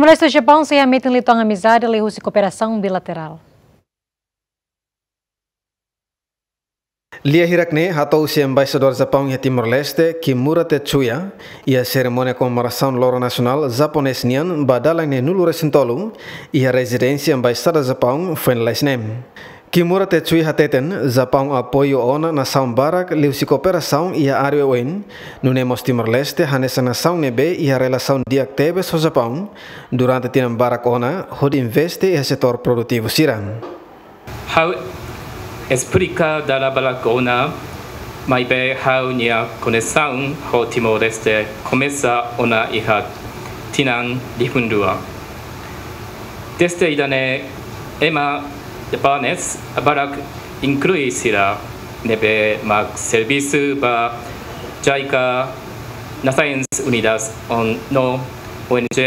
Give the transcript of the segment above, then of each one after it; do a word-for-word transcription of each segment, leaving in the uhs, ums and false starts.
Timor-Leste ho Japaun sei hametin liután amizade liuhusi kooperasaun bilaterál. Lia hirak-ne'e hato'o husi Embaixadór Japaun iha Timor-Leste, Kimura Tetsuya, iha serimónia komemorasaun Loron Nasionál Japonés nian ba dalan neenulu-resin-tolu, iha rezidénsia Embaixada Japaun, foin lalais ne'e. Kimura Tetsuya hateten, Japaun apoia ona nasaun barak liuhusi kooperasaun iha área oioin, nune'e mós Timor-Leste hanesan nasaun ne'ebé iha relasaun di'ak tebes ho Japaun, durante tinan barak ona, hodi investe iha setór produtivu sira. Ha'u esplika dala barak ona, maibé ha'u-nia koñesimentu ho Timor-Leste komesa ona iha tinan rihun rua. Dezde ida-ne'e ema Japonés barak, inklui sira ne'ebé mak servisu ba JICA, Nações Unidas no ONG,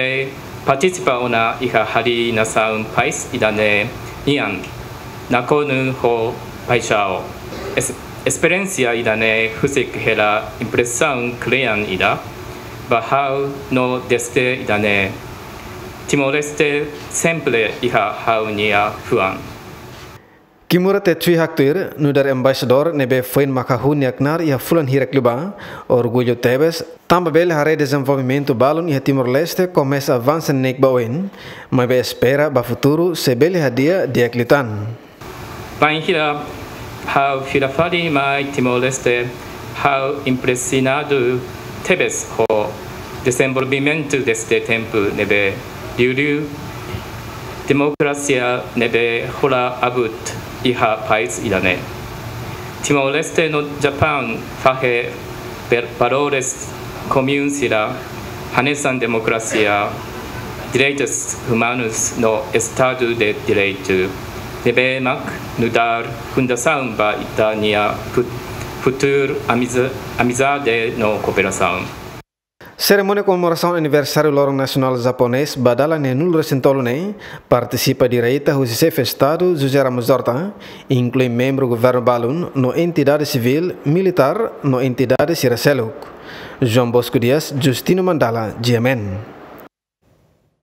partisipa ona iha harii nasaun país ida-ne'e nian, nakonu ho paixaun. Es-, esperiénsia ida-ne'e husik hela impresaun kle'an ida ba ha'u no dezde ida-ne'e Timor-Leste sempre iha ha'u-nia fuan. Kimura Tetsuya haktuir, nu'udar embaixadór ne'ebé foin mak hahú nia knaar iha fulan hirak liubá, orgullu tebes, tanba bele haree dezenvolvimentu balun iha Timor-Leste komesa avansa neineik ba oin, maibé espera ba futuru sei bele hadi'a di'ak liután. Bainhira ha'u fila fali mai Timor-Leste, ha'u impresionadu tebes ho dezenvolvimentu dezde tempu ne'ebé liuliu, demokrasia ne'ebé hola abut iha país ida-ne'e. Timor-Leste no Japaun fahe per-, valores komún sira hanesan demokrasia, direitus umanus no Estadu de Direitu, ne'ebé mak nu'udar fundasaun ba ita-nia fut-, futuru amiza-, amizade no kooperasaun. Serimónia komemorasaun aniversáriu Loron Nasionál Japonés ba dalan neenulu-resin-tolu ne'e partisipa direta husi Xefe Estadu José Ramos Horta, inklui membru governu balun no entidade sivíl, militár no entidade sira seluk. João Bosco Dias, Justino Mandala, GMN.